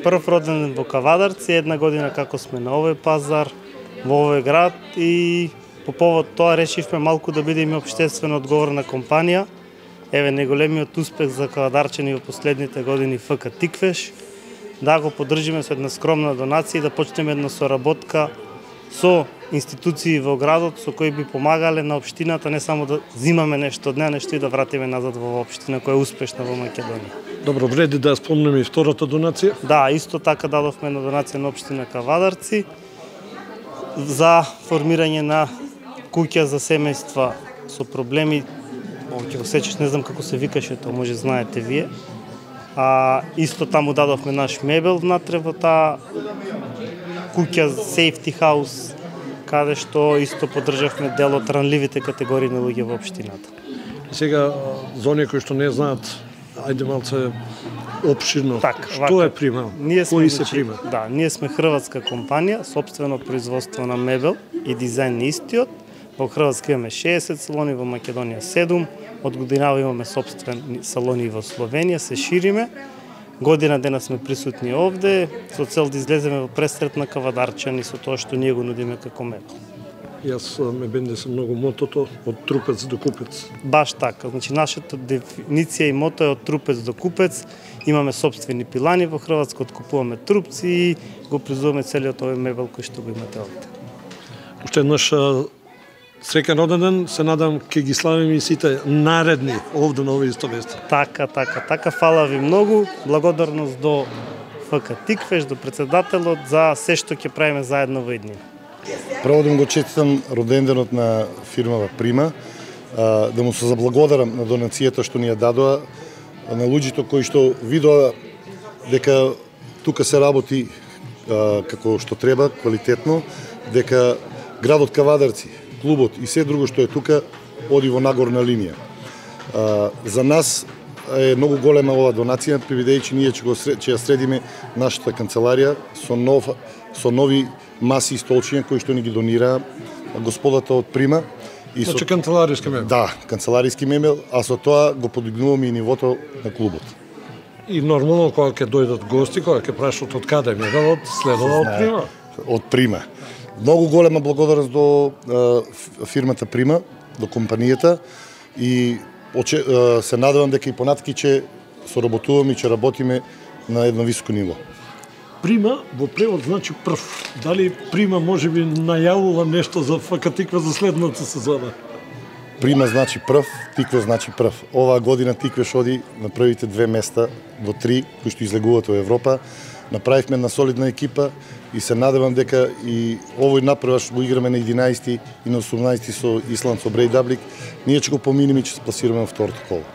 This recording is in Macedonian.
Прв роден во Кавадарци, една година како сме на овој пазар, во овој град и по повод тоа решивме малку да бидеме општествено одговорна компанија. Еве најголемиот успех за кавадарчани во последните години ФК Тиквеш, да го поддржиме со една скромна донација и да почнеме една соработка со институции во градот со кои би помагале на општината не само да зимаме нешто од неа, нешто и да вратиме назад во општина која е успешна во Македонија. Добро, вреди да спомнеме и втората донација? Да, исто така дадовме една донација на општина Кавадарци за формирање на куќа за семејства со проблеми. Ќе го сечеш, не знам како се викаше тоа, може знаете вие. Исто таму дадовме наш мебел внатре во таа куќа Safety House, каде што исто поддржавме дел од ранливите категории на луѓе во општината. Сега, за оние кои што не знаат, ајде малце опширно, што е Прима? Кои се Прима? Да, ние сме хрватска компанија, сопствено производство на мебел и дизајн на истиот. Во Хрватска имаме 60 салони, во Македонија 7, од годинава имаме сопствени салони во Словенија, се шириме. Година дена сме присутни овде, со цел да излеземе во пресрет на кавадарчани со тоа што ние го нудиме како мебел. Јас ме бендесам многу мотото од трупец до купец. Баш така, значи нашата дефиниција и мото е од трупец до купец. Имаме сопствени пилани во Хрватска, откупуваме трупци и го производиме целиот овој мебел кој што го имате овде. Уште еднаш среќен роден ден, се надам ќе ги славиме и сите наредни овде на овој исто место. Така, фала ви многу, благодарност до ФК Тиквеш, до председателот за се што ќе правиме заедно во иднина. Прво да му го честитам роденденот на фирмава Прима, да му се заблагодарам на донацијата што ни ја дадоа, на луѓето кои што видоа дека тука се работи како што треба, квалитетно, дека градот Кавадарци, клубот и се друго што е тука оди во нагорна линија. За нас е многу голема ова донација, бидејќи ние ќе ја средиме нашата канцеларија со нови маси и столчиња кои што ни ги донира господата од Прима. Значи канцелариски мебел? Да, канцелариски мебел, а со тоа го подигнуваме и нивото на клубот. И нормално кога ќе дојдат гости, кога ќе прашат од каде мебелот, следува од Прима? Од Прима. Многу голема благодарност до фирмата Прима, до компанијата и се надевам дека и понатаки ќе соработуваме и ќе работиме на едно високо ниво. Прима во превод значи прв. Дали Прима можеби најавува нешто за ФК Тиквеш за следната сезона? Прима значи прв, Тиквеш значи прв. Оваа година Тиквеш оди на првите 2 места во 3 кои што излегуваат во Европа. Направивме една солидна екипа и се надевам дека и овој напреваш го играме на 11 и на 18 со Исланд, со Брейдаблик, ние ќе го поминеме и ќе се пласираме во второто коло.